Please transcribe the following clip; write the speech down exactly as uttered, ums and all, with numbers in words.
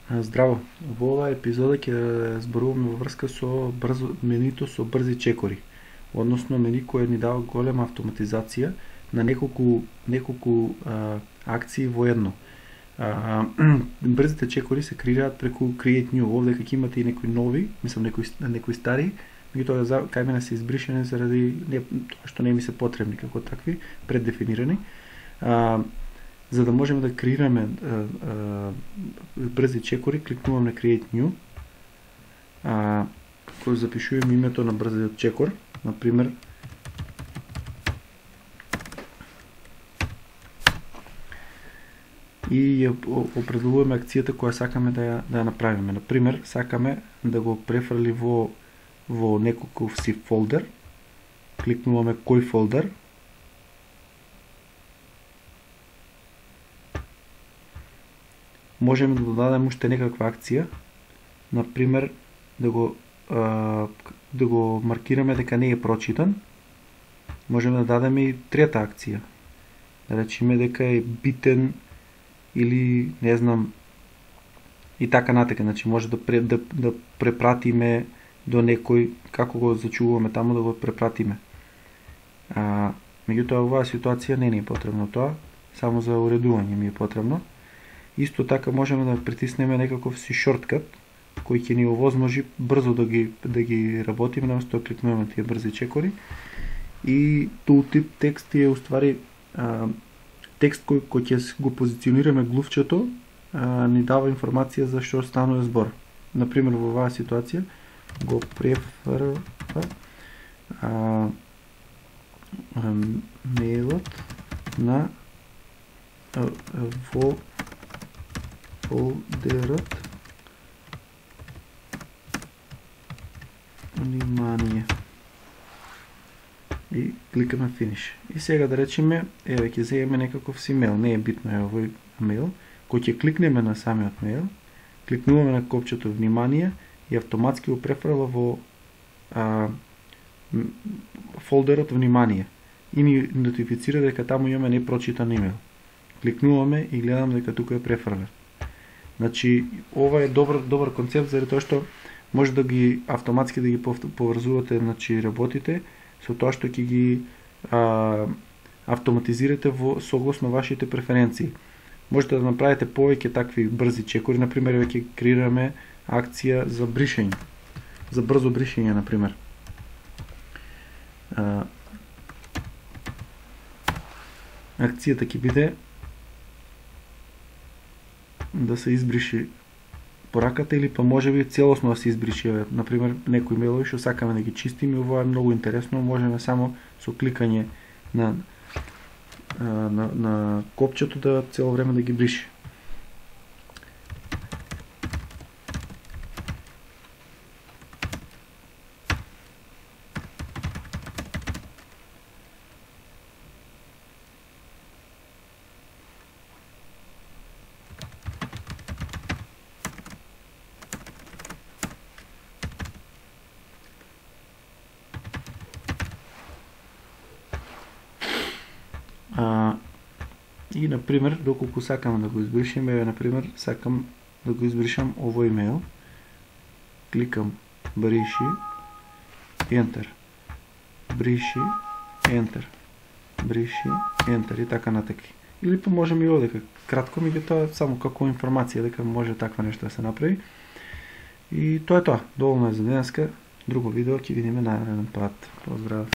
Здраво, во оваа епизода ќе зборуваме во врска со брзо менито со брзи чекори, односно мени кој ни дава голема автоматизација на неколку неколку а, акции во едно. А, брзите чекори се креираат преку Create New. Овде ќе имате и некои нови, мислам некои некои стари, меѓутоа за кај мене се избришени заради не, тоа што не ми се потребни како такви, преддефинирани. А, За да можеме да креираме а, а, брзи чекори, кликнувам на Create New, а, кој запишувам името на брзиот чекор, например и ја определуваме акцијата која сакаме да ја, да ја направиме. Например, сакаме да го префрли во во некој си фолдер, кликнуваме кој фолдер, можеме да додадеме уште некаква акција, например да го а, да го маркираме дека не е прочитан. Можеме да дадеме и трета акција, да речеме дека е битен или не знам и така натака. Значи може да пре, да, да препратиме до некој, како го зачуваме таму да го препратиме. А, меѓутоа оваа ситуација не ни е потребно тоа, само за уредување ми е потребно. Исто така можеме да притиснеме некаков си шорткат кој ќе ни овозможи брзо да ги да ги работиме, наместо да кликнуваме тие брзи чекори. И tooltip текст е уствари а, текст кој кој ќе го позиционираме глувчето, а, ни дава информација за што станува збор. Например, во оваа ситуација го префрва а, а, мејлот на а, во фолдерот внимание и кликаме Finish. И сега да речеме, еве ќе земеме некаков си мејл, не е битно е овој мејл, кој ќе кликнеме на самиот мејл, кликнуваме на копчето внимание и автоматски го префрла во а, фолдерот внимание и ни нотифицира дека таму имаме непрочитан имејл. Кликнуваме и гледаме дека тука е префрлен. Значи, ова е добар добар концепт заради тоа што може да ги автоматски да ги поврзувате, значи работите со тоа што ќе ги а, автоматизирате во согласно вашите преференции. Можете да направите повеќе такви брзи чекори, например, ќе креираме акција за бришење, за брзо бришење, например. А, акцијата ќе биде да се избриши пораката или па можеби целосно да се избриши, например, некои мејлови што сакаме да ги чистиме. Ова е многу интересно, можеме само со кликање на на на копчето да цело време да ги бриши. А, и, например, доколку сакам да го избришем, е, например, сакам да го избришам овој имејл, кликам бриши, ентер, бриши, ентер, бриши, ентер и така натаки. Или па можеме и овде кратко, меѓутоа само како информација дека може таква нешто да се направи. И тоа е тоа. Доволно е за денеска. Друго видео ќе видиме нареден пат. Поздрав!